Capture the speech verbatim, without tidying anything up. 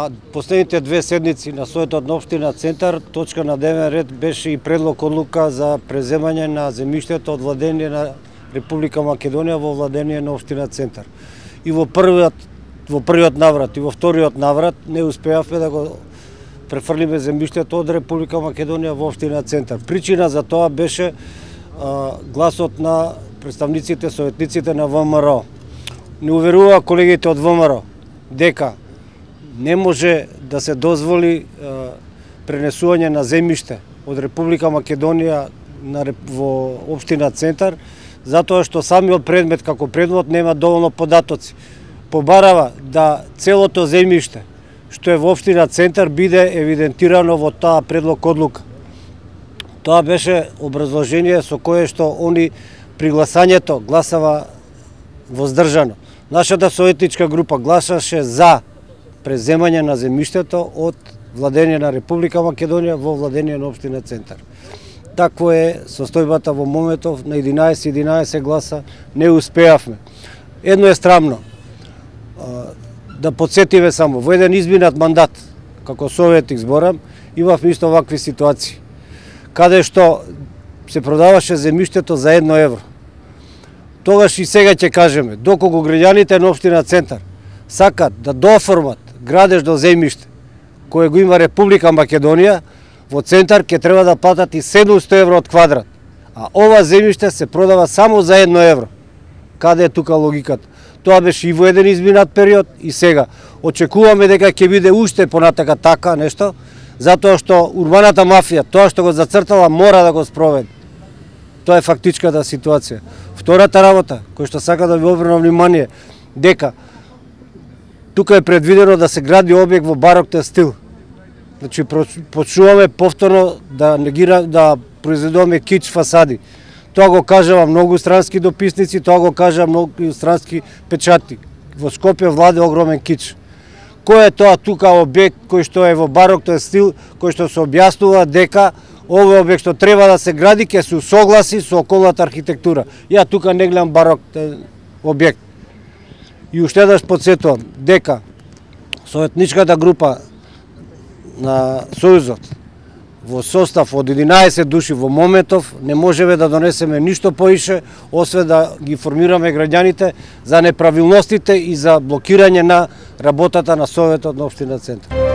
На последните две седмици на Советот на општина Центар, точка на дневен ред беше и предлог одлука за преземање на земјиштето од владење на Република Македонија во владење на општина Центар. И во првиот во првиот наврат и во вториот наврат не успеавме да го префрлиме земјиштето од Република Македонија во општина Центар. Причина за тоа беше а, гласот на представниците, советниците на ВМРО. Не уверува колегите од ВМРО дека не може да се дозволи е, пренесување на земјиште од Република Македонија на, во општина Центар, затоа што самиот предмет како предмет нема доволно податоци. Побарава да целото земјиште што е во општина Центар биде евидентирано во таа предлог одлука. Тоа беше образложение со кое што они при гласањето гласава воздржано. Нашата советничка група гласаше за преземање на земјиштето од владење на Република Македонија во владење на општина Центар. Такво е состојбата во моментов, на единаесет единаесет гласа не успеавме. Едно е срамно, да подсетиме само, во еден изминат мандат, како советник зборам, имавме исто вакви ситуации, каде што се продаваше земјиштето за едно евро. Тогаш и сега ќе кажеме, доколку граѓаните на општина Центар сакат да дооформат градеж до земјиште кое го има Република Македонија, во Центар ќе треба да платат и седумсто евро од квадрат, а ова земјиште се продава само за едно евро. Каде е тука логиката? Тоа беше и во еден изминат период и сега. Очекуваме дека ќе биде уште понатака така нешто, затоа што урбаната мафија, тоа што го зацртала, мора да го спроведе. Тоа е фактичката ситуација. Втората работа, која што сака да ви обрнам внимание, дека тука е предвидено да се гради објект во бароктен стил. Значи, почуваме повторно да негира, да произведуваме кич фасади. Тоа го кажава многу странски дописници, тоа го кажа многу странски печати. Во Скопје владе огромен кич. Кој е тоа тука објект кој што е во бароктен стил, кој што се објаснува дека овој објект што треба да се гради ќе се усогласи со околната архитектура. Ја тука не гледам бароктен објект. И уште еднаш подсетувам дека советничката група на Сојузот во состав од единаесет души во моментов не можеме да донесеме ништо поише, освен да ги информираме граѓаните за неправилностите и за блокирање на работата на Советот на општина Центар.